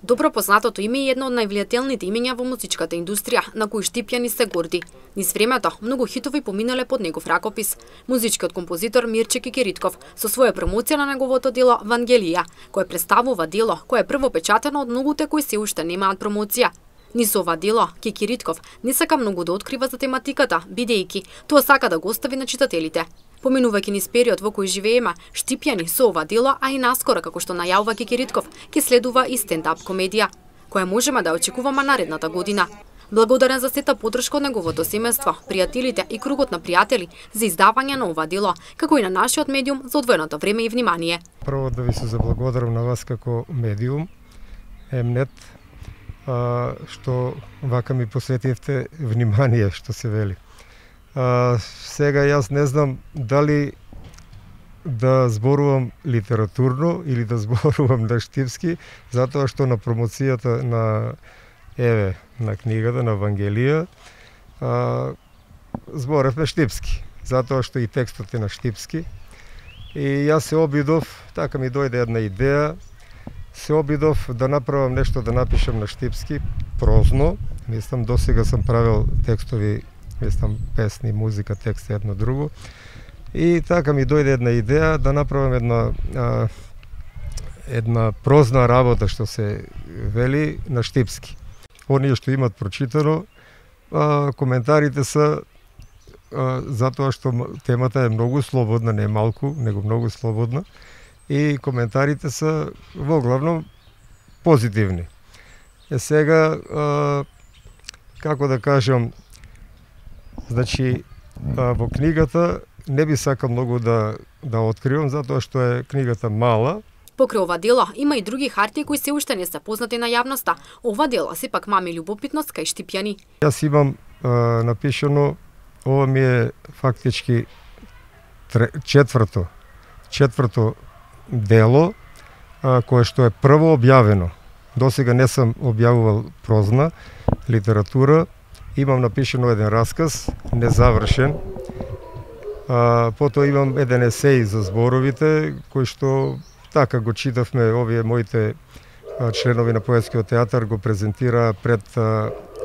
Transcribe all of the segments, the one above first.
Добро познатото име е едно од највлијателните имења во музичката индустрија, на кој Штипјани се горди. Низ времето, многу хитови поминале под негов ракопис. Музичкиот композитор Мирче Кикиритков со своја промоција на неговото дело Вангелија, кој представува дело кое е прво печатено од многуте кои се уште немаат промоција. Низ ова дело, Кикиритков не сака многу да открива за тематиката, бидејќи тоа сака да го остави на читателите. Поминувајќи низ период во кој живееме, Штипјани со ова дело, а и наскоро, како што најавува Кикиритков, ќе следува и стендап комедија, која можеме да очекуваме наредната година. Благодарен за сета поддршка од неговото семејство, пријателите и кругот на пријатели за издавање на ова дело, како и на нашиот медиум за одвоеното време и внимание. Прво да ви се заблагодарам на вас како медиум, Емнет, што вака ми посветивте внимание, што се вели. Сега јас не знам дали да зборувам литературно или да зборувам на штипски, затоа што на промоцијата на книгата на Вангелија зборевме штипски, затоа што и текстот е на штипски. И јас се обидов, така ми дојде една идеја, се обидов да направам нешто да напишам на штипски, прозно. Мислам, досега сам правил текстови, мислам, песни, музика, текст едно друго. И така ми дојде една идеја да направам една прозна работа, што се вели, на штипски. Оние што имат прочитано, коментарите се затоа што темата е многу слободна, не малку, него многу слободна, и коментарите се во главно позитивни. Сега, како да кажам, значи, во книгата не би сакал многу да откривам, затоа што е книгата мала. Покрај ова дело има и други хартии кои се уште не се познати на јавноста. Ова дело сепак мами љубопитност кај Штипјани. Јас имам напишано, ова ми е фактички четврто дело, кое што е прво објавено. Досега не сам објавувал прозна литература. Имам напишано еден расказ, незавршен. Потоа имам еден есеј за зборовите, кој што така го читавме, овие моите членови на поетскиот театар го презентира пред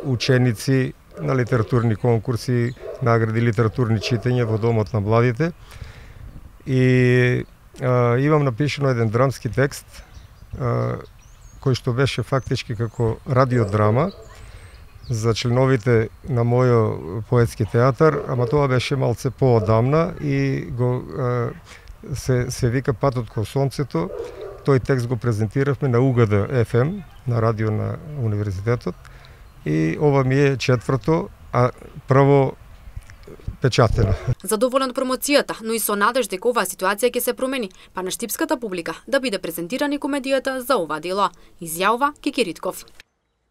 ученици на литературни конкурси, награди литературни читања во Домот на младите. И имам напишано еден драмски текст, кој што беше фактички како радиодрама за членовите на мојот поетски театар, ама тоа беше малце поодамна и го се вика Патот кон сонцето. Тој текст го презентиравме на УГД ФМ, на радио на универзитетот, и ова ми е четврто, а прво печатено. Задоволен од промоцијата, но и со надеж дека оваа ситуација ќе се промени, па на штипската публика да биде презентирана комедијата за ова дело, изјавува Кикиритков.